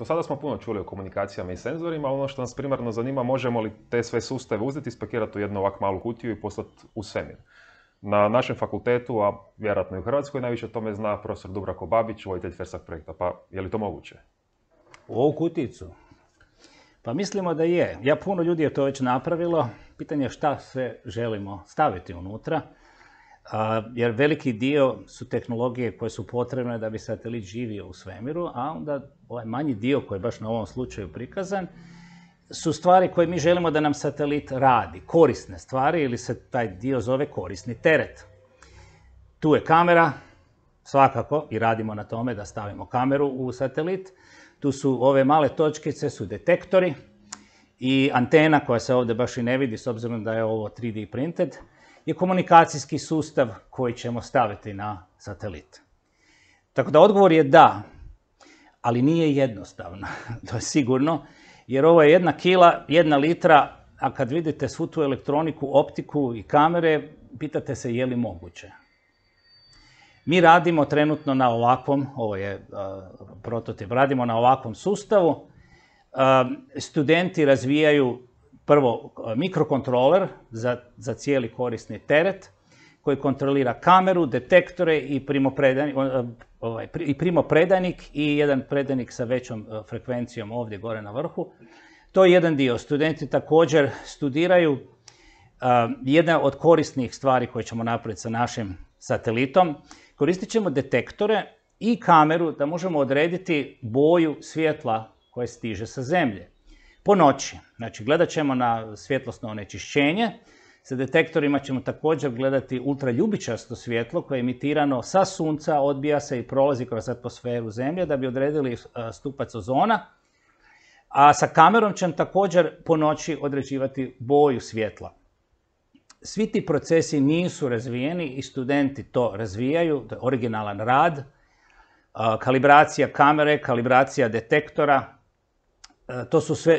Do sada smo puno čuli o komunikacijama i senzorima, ali ono što nas primarno zanima, možemo li te sve sustave uzeti, spakirati u jednu ovak malu kutiju i poslati u svemir. Na našem fakultetu, a vjerojatno i u Hrvatskoj, najviše o tome zna profesor Dubravko Babić, voditelj FERSAC projekta. Pa je li to moguće? U ovu kutijicu? Pa mislimo da je. Puno ljudi je to već napravilo. Pitanje je šta sve želimo staviti unutra. Jer veliki dio su tehnologije koje su potrebne da bi satelit živio u svemiru, a onda ovaj manji dio koji je baš na ovom slučaju prikazan su stvari koje mi želimo da nam satelit radi, korisne stvari, ili se taj dio zove korisni teret. Tu je kamera, svakako, i radimo na tome da stavimo kameru u satelit. Tu su ove male točkice, su detektori i antena koja se ovdje baš i ne vidi s obzirom da je ovo 3D printed, je komunikacijski sustav koji ćemo staviti na satelit. Tako da odgovor je da, ali nije jednostavno, to je sigurno, jer ovo je 1 kila, 1 litra, a kad vidite svu tu elektroniku, optiku i kamere, pitate se je li moguće. Mi radimo trenutno na ovakvom, ovo je prototip, radimo na ovakvom sustavu. Studenti razvijaju prvo mikrokontroler za cijeli korisni teret, koji kontrolira kameru, detektore i primopredajnik i jedan predajnik sa većom frekvencijom ovdje gore na vrhu. To je jedan dio. Studenti također studiraju jedna od korisnih stvari koje ćemo napraviti sa našim satelitom. Koristit ćemo detektore i kameru da možemo odrediti boju svjetla koje stiže sa zemlje. Po noći. Znači, gledat ćemo na svjetlosno onečišćenje. Sa detektorima ćemo također gledati ultraljubičasto svjetlo koje je emitirano sa sunca, odbija se i prolazi kroz atmosferu zemlje da bi odredili stupac ozona. A sa kamerom ćemo također po noći određivati boju svjetla. Svi ti procesi nisu razvijeni i studenti to razvijaju, to je originalan rad. Kalibracija kamere, kalibracija detektora,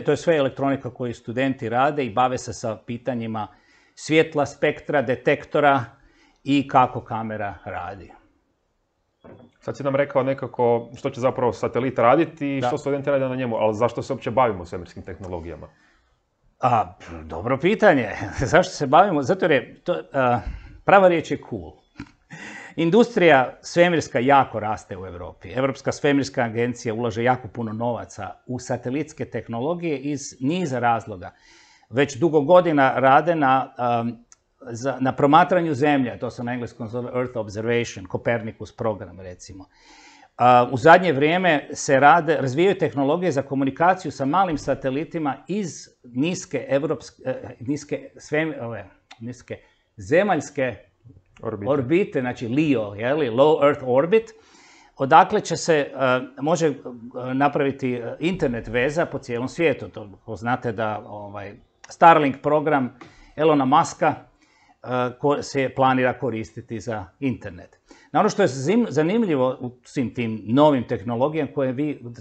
to je sve elektronika koju studenti rade i bave se sa pitanjima svjetla, spektra, detektora i kako kamera radi. Sad si nam rekao nekako što će zapravo satelit raditi i što studenti rade na njemu, ali zašto se uopće bavimo svemirskim tehnologijama? Dobro pitanje. Zašto se bavimo? Zato jer je prava riječ je cool. Industrija svemirska jako raste u Europi. Europska svemirska agencija ulaže jako puno novaca u satelitske tehnologije iz niza razloga. Već dugo godina rade na promatranju zemlje, to se na engleskom zove Earth Observation, Copernicus program recimo. U zadnje vrijeme se razvijaju tehnologije za komunikaciju sa malim satelitima iz niske zemaljske orbite, znači LEO, Low Earth Orbit, odakle će se, može napraviti internet veza po cijelom svijetu. To znate da Starlink program Elona Muska se planira koristiti za internet. Na ono što je zanimljivo u svim tim novim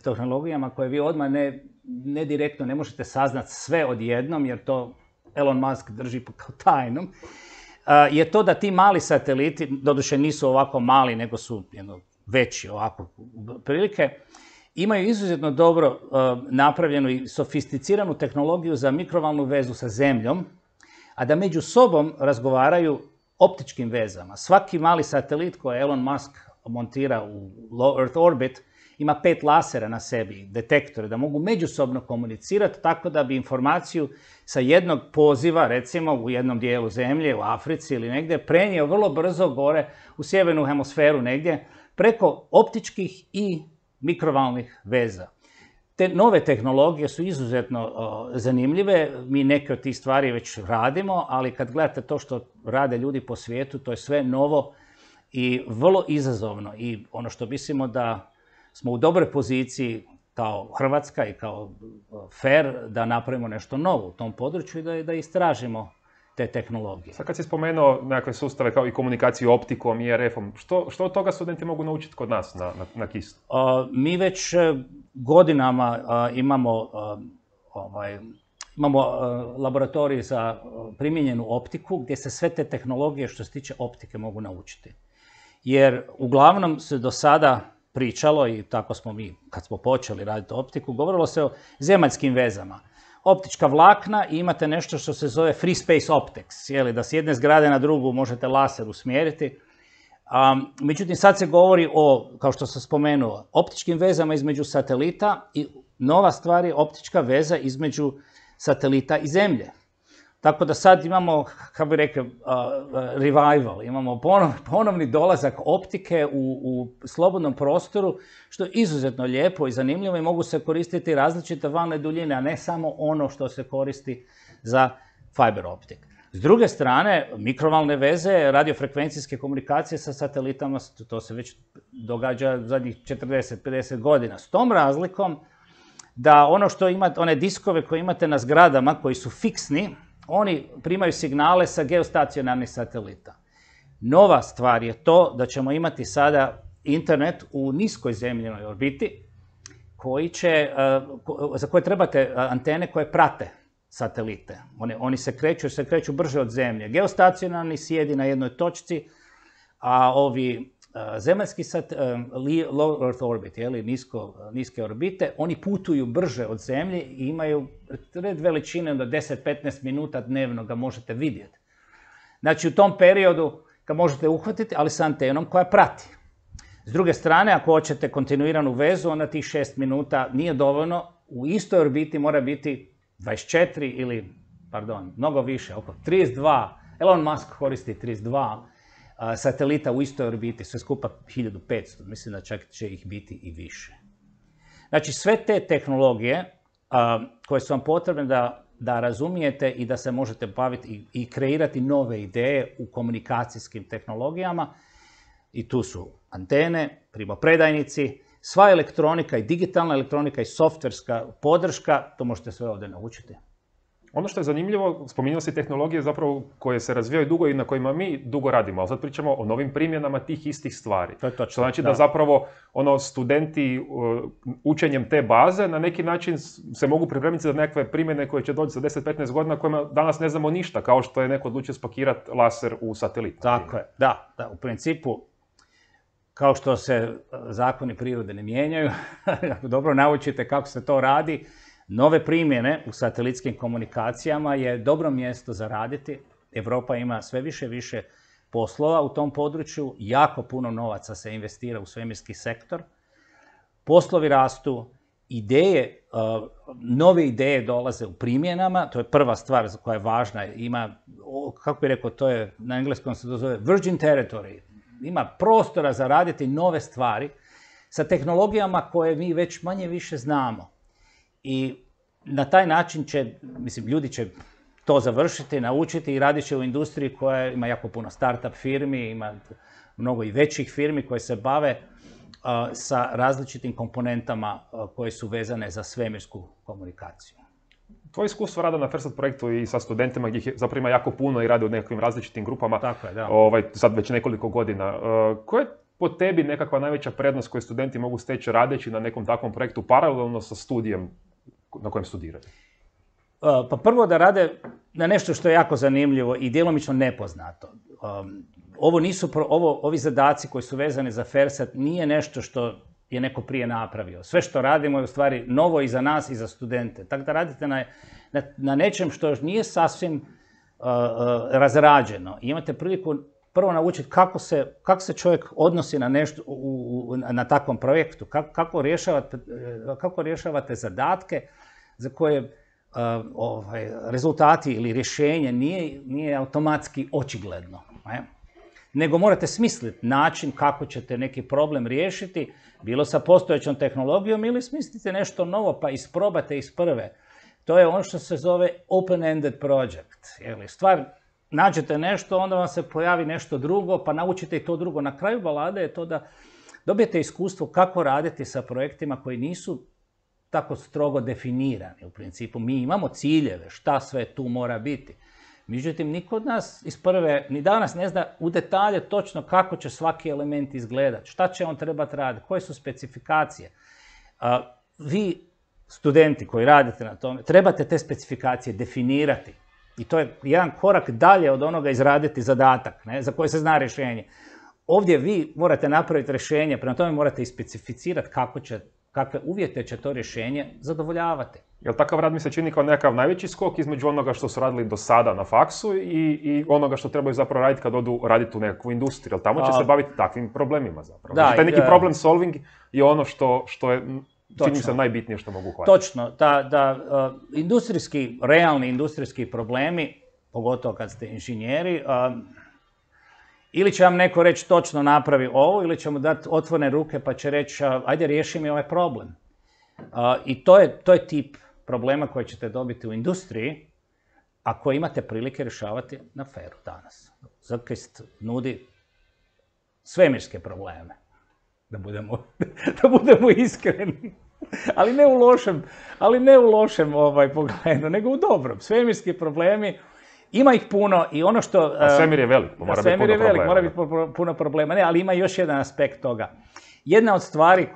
tehnologijama koje vi odmah ne direktno ne možete saznati sve odjednom, jer to Elon Musk drži kao tajnom, je to da ti mali sateliti, doduše nisu ovako mali, nego su veći ovako prilike, imaju izuzetno dobro napravljenu i sofisticiranu tehnologiju za mikrovalnu vezu sa zemljom, a da među sobom razgovaraju optičkim vezama. Svaki mali satelit koji Elon Musk montira u Low Earth Orbit ima 5 lasera na sebi, detektore, da mogu međusobno komunicirati tako da bi informaciju sa jednog poziva, recimo u jednom dijelu zemlje, u Africi ili negdje, prenio vrlo brzo gore u sjevernu hemisferu negdje, preko optičkih i mikrovalnih veza. Te nove tehnologije su izuzetno zanimljive, mi neke od tih stvari već radimo, ali kad gledate to što rade ljudi po svijetu, to je sve novo i vrlo izazovno. I ono što mislimo da smo u dobroj poziciji kao Hrvatska i kao FER da napravimo nešto novo u tom području i da istražimo te tehnologije. Sad kad si spomenuo nekakve sustave kao i komunikaciju optikom i RF-om, što od toga studenti mogu naučiti kod nas na KIS? Mi već godinama imamo laboratorij za primijenjenu optiku gdje se sve te tehnologije što se tiče optike mogu naučiti. Jer uglavnom se do sada pričalo, i tako smo mi, kad smo počeli raditi optiku, govorilo se o zemaljskim vezama. Optička vlakna i imate nešto što se zove free space optics, da s jedne zgrade na drugu možete laser usmjeriti. Međutim, sad se govori o, kao što sam spomenuo, optičkim vezama između satelita i nova stvar je optička veza između satelita i Zemlje. Tako da sad imamo, kako bi rekao, revival, imamo ponovni dolazak optike u slobodnom prostoru, što je izuzetno lijepo i zanimljivo i mogu se koristiti različite valne duljine, a ne samo ono što se koristi za fiber optik. S druge strane, mikrovalne veze, radiofrekvencijske komunikacije sa satelitama, to se već događa zadnjih 40-50 godina. S tom razlikom da ono što imate, one diskove koje imate na zgradama koji su fiksni, oni primaju signale sa geostacionarnih satelita. Nova stvar je to da ćemo imati sada internet u niskoj zemljinoj orbiti, za koje trebate antene koje prate satelite. Oni se kreću brže od Zemlje. Geostacionarni sjedi na jednoj točci, a ovi zemaljski low Earth orbit, niske orbite, oni putuju brže od Zemlje i imaju red veličine do 10-15 minuta dnevno ga možete vidjeti. Znači, u tom periodu ga možete uhvatiti, ali sa antenom koja prati. S druge strane, ako hoćete kontinuiranu vezu, onda tih 6 minuta nije dovoljno. U istoj orbiti mora biti 24 ili, mnogo više, oko 32. Elon Musk koristi 32 satelita u istoj orbiti, sve skupa 1500, mislim da čak će ih biti i više. Znači, sve te tehnologije koje su vam potrebne da razumijete i da se možete baviti i kreirati nove ideje u komunikacijskim tehnologijama, i tu su antene, primopredajnici, sva elektronika i digitalna elektronika i softverska podrška, to možete sve ovdje naučiti. Ono što je zanimljivo, spominjao si tehnologije zapravo koje se razvijaju dugo i na kojima mi dugo radimo, ali sad pričamo o novim primjenama tih istih stvari. To je točno, što znači da zapravo studenti učenjem te baze na neki način se mogu pripremiti za nekakve primjene koje će doći za 10-15 godina kojima danas ne znamo ništa, kao što je neko odlučio spakirati laser u satelit. Tako je, da, u principu, kao što se zakoni prirode ne mijenjaju, ako dobro naučite kako se to radi, nove primjene u satelitskim komunikacijama je dobro mjesto za raditi. Europa ima sve više poslova u tom području, jako puno novaca se investira u svemirski sektor. Poslovi rastu, nove ideje dolaze u primjenama, to je prva stvar koja je važna. Ima, kako bih rekao, to je, na engleskom se to zove virgin territory. Ima prostora za raditi nove stvari sa tehnologijama koje mi već manje više znamo. I na taj način ljudi će to završiti, naučiti i radit će u industriji koja ima jako puno start-up firmi, ima mnogo i većih firmi koje se bave sa različitim komponentama koje su vezane za svemirsku komunikaciju. Tvoje iskustvo rada na FIRST projektu i sa studentima gdje ih zapravo ima jako puno i radi u nekakvim različitim grupama, tako je, da. Sad već nekoliko godina. Koja je po tebi nekakva najveća prednost koju studenti mogu steći radeći na nekom takvom projektu paralelno sa studijem na kojem studiraju? Pa prvo da rade na nešto što je jako zanimljivo i djelomično nepoznato. Ovi zadaci koji su vezani za FIRST nije nešto što je neko prije napravio. Sve što radimo je u stvari novo i za nas i za studente. Tako da radite na nečem što nije sasvim razrađeno. I imate priliku prvo naučiti kako se čovjek odnosi na nešto na takvom projektu, kako rješavate zadatke za koje rezultati ili rješenje nije automatski očigledno. Nego morate smisliti način kako ćete neki problem riješiti, bilo sa postojećom tehnologijom ili smislite nešto novo pa isprobate iz prve. To je ono što se zove open-ended project. Stvar, nađete nešto, onda vam se pojavi nešto drugo, pa naučite i to drugo. Na kraju balade je to da dobijete iskustvo kako raditi sa projektima koji nisu tako strogo definirani. U principu mi imamo ciljeve, šta sve tu mora biti. Međutim, niko od nas iz prve, ni danas ne zna u detalje točno kako će svaki element izgledati, šta će on trebati raditi, koje su specifikacije. Vi, studenti koji radite na tome, trebate te specifikacije definirati. I to je jedan korak dalje od onoga izraditi zadatak, za koji se zna rješenje. ovdje vi morate napraviti rješenje, prema tome morate ispecificirati kakve uvjete će to rješenje zadovoljavati. Jel takav rad mi se čini kao nekakav najveći skok između onoga što su radili do sada na faksu i onoga što trebaju zapravo raditi kad odu raditi u nekakvu industriju? Jel tamo će se baviti takvim problemima zapravo? Znači, taj neki problem solving je ono što je, čini mi se, najbitnije što mogu uhvatiti. Točno, realni industrijski problemi, pogotovo kad ste inženjeri, ili će vam neko reći točno napravi ovo, ili će mu dati otvorene ruke pa će reći ajde riješi mi ovaj problem. I to je tip problema koje ćete dobiti u industriji, a koje imate prilike rješavati na feru danas. Zrkist nudi svemirske probleme, da budemo iskreni. Ali ne u lošem pogledu, nego u dobrom. Svemirski problemi, ima ih puno i ono što... A svemir je velik, mora biti puno problema. Ne, ali ima još jedan aspekt toga. Jedna od stvari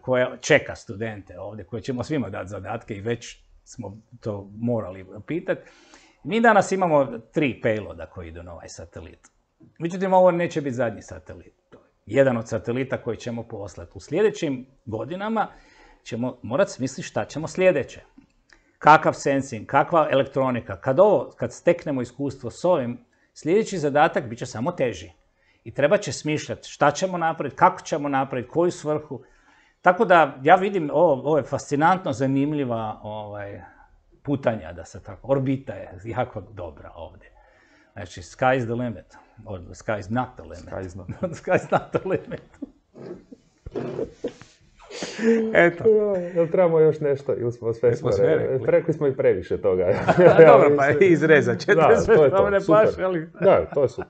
koja čeka studente ovdje, koje ćemo svima dati zadatke i već smo to morali pitati, mi danas imamo 3 payloada koji idu na ovaj satelit. Međutim, ovo neće biti zadnji satelit. Jedan od satelita koji ćemo poslati. U sljedećim godinama ćemo morati smisliti šta ćemo sljedeće. Kakav sensing, kakva elektronika. Kad steknemo iskustvo s ovim, sljedeći zadatak bit će samo teži. I treba će smišljati šta ćemo napraviti, kako ćemo napraviti, koju svrhu. Tako da ja vidim, ovo je fascinantno zanimljiva putanja, da se tako, orbita je jako dobra ovdje. Znači, sky is the limit. Or sky is not the limit. Sky is not the limit. Eto. Jel trebamo još nešto? Ili smo sve rekli smo i previše toga. Dobro, pa izrezat ćete sve što vam ne paše. Da, to je super.